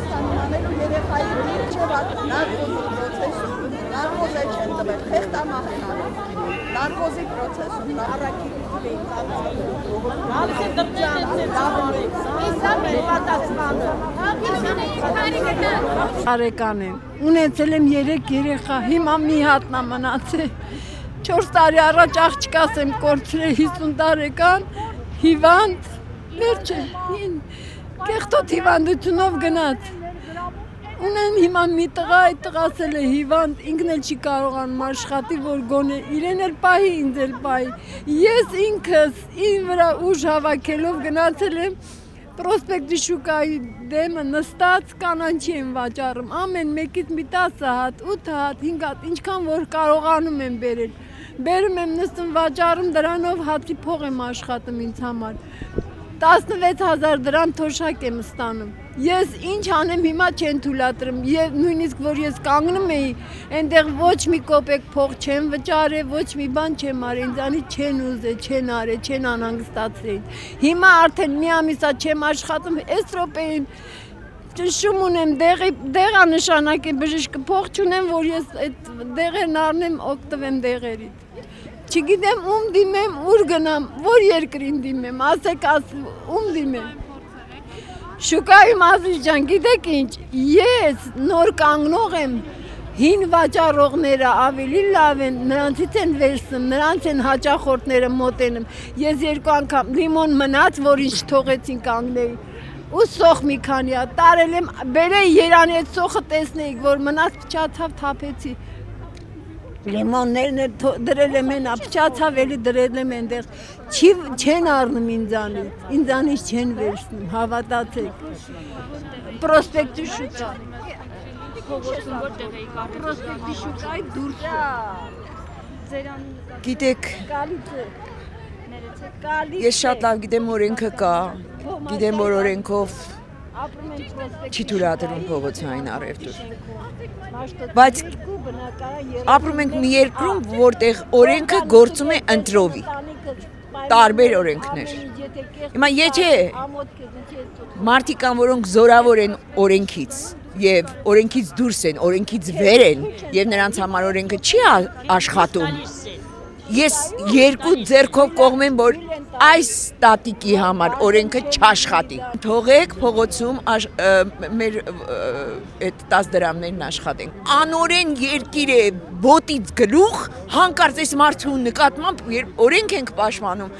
Հայաստանում անելու երեխայի դիրջևատ նարկոզի պրոցեսում, նարկոզը չեն տվել, խեղտամահնան, նարկոզի պրոցեսում, առաքիլի տվեին Տարեկան եմ, ունեցել եմ 3 երեխա, հիմա մի հատնա մնացել, 4 տարի առաջ աղջկաս եմ կորցրել 50 տարեկան, հիվանդ, վերջը, կեղտոտ հիվանդությունով գնաց, ունեմ հիմա մի տղա, այդ տղասել է հիվանդ, ինքն էլ չի կարողանում աշխատի, որ գոնե, իրեն էլ պահի, ինձ էլ պահի, ես ինքս իմ վրա ուժ հավաքելով գնացել եմ, Պրոսպեկտի շուկայի դեմը նստած կանանչի եմ վաճառում, ամեն մեկից մի 10 հատ, 8 հատ, 5 հատ, ինչքան որ կարողանում եմ բերել, բերում եմ նստում վաճառում, դրանով հացի փող եմ աշխատում ինձ համար, 16,000 դրամ թոշակ եմ ստանում, ես ինչ անեմ հիմա չեն թույլատրում, եւ նույնիսկ որ ես կանգնում էի, այնտեղ ոչ մի կոպեկ փող չեմ վճարել, ոչ մի բան չեմ արել, ինձանից չեն ուզել, չեն արել, չեն անհանգստացրել։ Հիմա արդեն մի ամիսա չեմ աշխատում, այս րոպեին ճշում ունեմ, դեղանշանակ է բժիշկը, փող չունեմ, որ ես այդ դեղերն առնեմ, օգտվեմ դեղերից։ Չգիտեմ ում դիմեմ, ուր գնամ, որ երկրին դիմեմ, ասեք ում դիմեմ։ Շուկայում Ազիզ ջան, գիտեք ինչ, ես նոր կանգնող եմ, հին վաճառողները ավելի լավ են, նրանցից են վերցնում, նրանց են հաճախորդները մոտենում, ես 2 անգամ լիմոն մնաց, որ ինչ թողեցին կանգնեի, ու սոխ մի քանի հատ տարել եմ, բերեի Երանի այդ սոխը տեսնեիք, որ մնաց փչացավ թափեցի, լիմոններն դրել եմ հենա, փչացավ էլի դրել եմ այնտեղ, չեն առնում ինձանից չեն վերցնում, հավատացեք, Պրոսպեկտի շուկա, Պրոսպեկտի շուկայի դուրս Գիտեք, ես շատ լավ գիտեմ օրենքը կա, գիտեմ որ օրենքով չի թույլատրում փողոցային առևտուր, բայց ապրում ենք մի երկրում, որտեղ օրենքը գործում է ընտրովի, տարբեր օրենքներ, հիմա եթե մարդիկ կան, որոնք զորավոր են օրենքից և օրենքից դուրս են, օրենքից վեր են և նրանց համար օրենքը չի աշխատում, ես 2 ձեռքով կողմեմ, որ այս տատիկի համար օրենքը չաշխատի։ Թողեք փողոցում մեր 10 դրամներն աշխատենք։ Անօրեն երկիր է, ոտից գլուխ, հանկարծ այս մարդու նկատմամբ օրենք ենք պաշտպանում։